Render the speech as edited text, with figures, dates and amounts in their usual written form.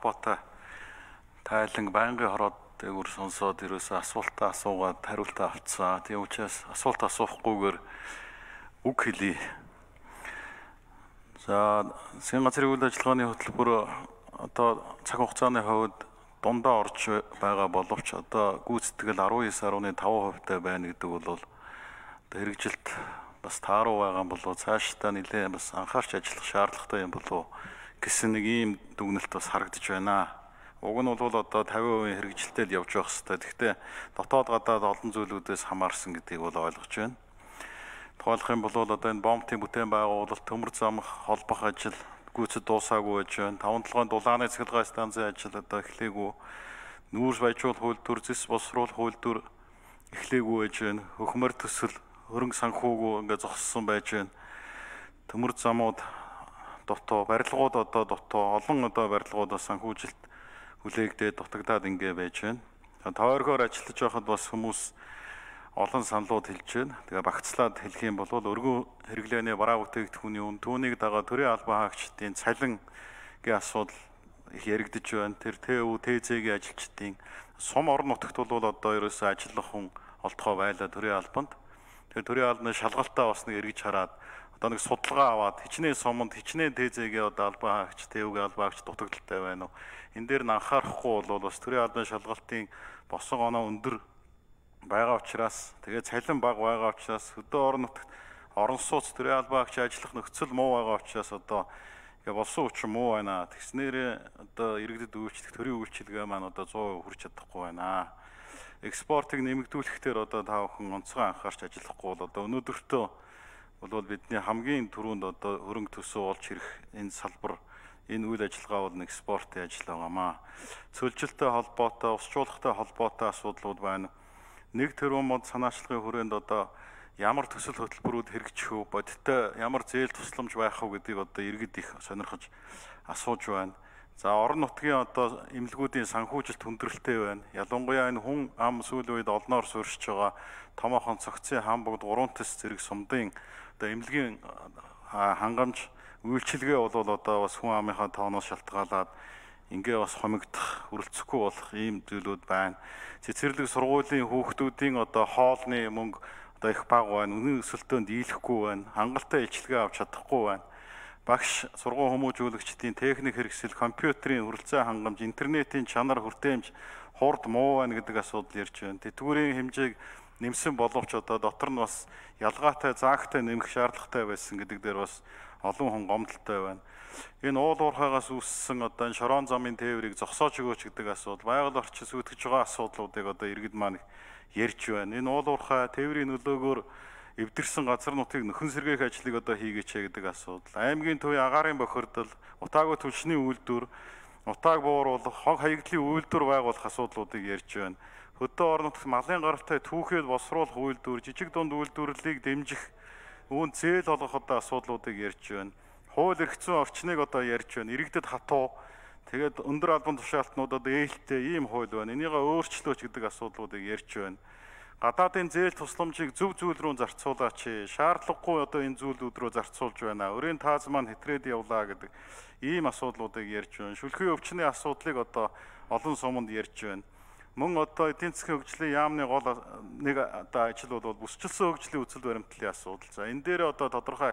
холбоотой тайлан байнгын хороод дээгүүр сонсоод ерөөсөө асуултаа асуугаад хариултаа авцгаа. Тийм учраас асуулт асуухгүйгээр үг хэлье. За, засгийн газрын үйл ажиллагааны хөтөлбөр одоо цаг хугацааны хувьд дундаа орж байгаа боловч одоо гүйцэтгэл 19.5% байна гэдэг бол хэрэгжилт бас тааруу байгаа болов цаашдаа нэлээд бас анхаарч ажиллах шаардлагатай юм болов гэсэн нэг ийм дүгнэлт бас харагдаж байна. Уг нь бол одоо 50% хэрэгжилтэд явж байх хэвээр. Гэхдээ дотоод гадаад олон зүйлүүдээс хамаарсан гэдгийг бол ойлгож байна. Тухайлах юм бол одоо энэ бомбын бүтээн байгуулалт, төмөр замх холбох ажил гүйцэд дуусаагүй байж байна. 5-7 дулааны цэглэгээ станцын ажил одоо эхлэегүй. Нүүрс баяжуул хууль зис босруулах хууль эхлэегүй байж байна. Хөхмөр төсөл хөрөнгө санхүүгөө ингээд зогссон байж байна. Төмөр замууд дотоо барилгууд одоо дотоо олон одоо барилгуудаас санхүүжилт хүлээгдээд дутагдаад ингээ байж байна. Тойргоор ажиллаж байхад бас хүмүүс олон саналууд хэлж байна. Тэгээ багцлаад хэлэх юм бол өргөн хэрэглээний бараа бүтээгдэхүүний үн түүнийг дагаад төрийн албан хаагчдын цалингийн асуудал их яригдж байна. Тэр ТЭУ, ТЗ-ийн ажилчдын сум орон нутагт бол одоо ерөөсөө ажиллах хүн олдгоо байлаа төрийн албанд. Тэр төрийн албаны шалгалтаа бас нэг эргэж хараад одоо нэг судалгаа аваад хичнээн суманд хичнээн ТЗ-ийн одоо албан хаагч, ТЭУ-гийн албан хаагч дутагдaltaй байна уу? Энэ дээр нь анхаарахгүй бол бас төрийн албаны шалгалтын босон оноо өндөр байгаа учраас тэгээ цалин бага байгаа учраас хөдөө орон нутагт орон сууц төрийн албан хаагч ажиллах нөхцөл муу байгаа учраас одоо болсон учраас муу байна. Тэгснээр одоо иргэдэд үйлчлэх төрийн үйлчилгээ маань одоо 100% хүрч чадахгүй байна. Экспортыг нэмэгдүүлэхээр одоо та бүхэн онцгой анхаарч ажиллахгүй бол одоо өнөөдөртөө бол бидний хамгийн түрүүнд одоо хөрөнгө төсөө олж ирэх энэ салбар энэ үйл ажиллагаа бол экспортын ажил байгаамаа. Цөлжилттэй холбоотой, усчуулгатай холбоотой асуудлууд байна. 1 тэрбум мод санаачлагын хүрээнд одоо ямар төсөл хөтөлбөрүүд хэрэгжих вэ? Бодиттой ямар зээл тусламж байх вэ гэдгийг одоо иргэд их сонирхож асууж байна. За, орон нутгийн одоо эмнэлгүүдийн санхүүжилт хүндрэлтэй байна. Ялангуяа энэ хүн ам сүүлийн үед олноор суурьшиж байгаа томоохон цогцын хам бүгд 3 тэс зэрэг сумдын одоо эмнэлгийн хангамж үйлчилгээ бол одоо бас хүн амынхаа тооноос шалтгаалаад ингээ бас хомигдох, хүрэлцэхгүй болох ийм зүйлүүд байна. Цэцэрлэг сургуулийн хүүхдүүдийн одоо хоолны мөнгө одоо их бага байна. Үнийн өсөлтөнд дийлэхгүй байна. Хангалттай илчилгээ авч чадахгүй байна. Багш, сургууль хүмүүжүүлэгчдийн техник хэрэгсэл, компьютерийн хүрэлцээ хангамж, интернетийн чанар хүртээмж хурд муу байна гэдэг асуудал ярьж байна. Тэтгэврийн хэмжээг нэмсэн боловч одоо дотор нь бас ялгаатай, заагтай нэмэх шаардлагатай байсан гэдэг дээр бас олон хүн гомдолтой байна. Энэ уул уурхайгаас үүссэн одоо энэ шорон замын тээврийг зогсоож өгөөч гэдэг асуудал, байгаль орчин сүйтгэж байгаа асуудлуудыг одоо иргэд маань ярьж байна. Энэ уул уурхай тээврийн нөлөөгөөр эвдэрсэн газар нутгийг нөхөн сэргээх ажлыг одоо хийгээч гэдэг асуудал. Аймгийн төвийн агаарын бохирдол, утаагүй түлшний үйлдвэр, утааг бууруулах, хог хаягдлын үйлдвэр байгуулах асуудлуудыг ярьж байна. Хөдөө орон нутагт малын гаралтай түүхээд босруулах үйлдвэр, жижиг дунд үйлдвэрлэлийг дэмжих, үүнд зээл олгох одоо асуудлуудыг ярьж байна. Хууль эрх зүйн орчныг одоо ярьж байна. Иргэдэд хатуу, тэгээд өндөр албан тушаалтнуудад ээлтэй ийм хууль байна. Энийг өөрчлөөч гэдэг асуудлуудыг ярьж байна. Гадаадын зээл тусламжийг зөв зүйл рүү зарцуулаач. Шаардлагагүй одоо энэ зүйлүүд рүү зарцуулж байна. Өрийн тааз маань хэтрээд явлаа гэдэг ийм асуудлуудыг ярьж байна. Шүлхий өвчний асуудлыг одоо олон суманд ярьж байна. Мөн одоо эдийн засгийн хөгжлийн яамны гол нэг одоо ажил бол бүсчилсэн хөгжлийн үзэл баримтлалын асуудал. За, энэ дээр одоо тодорхой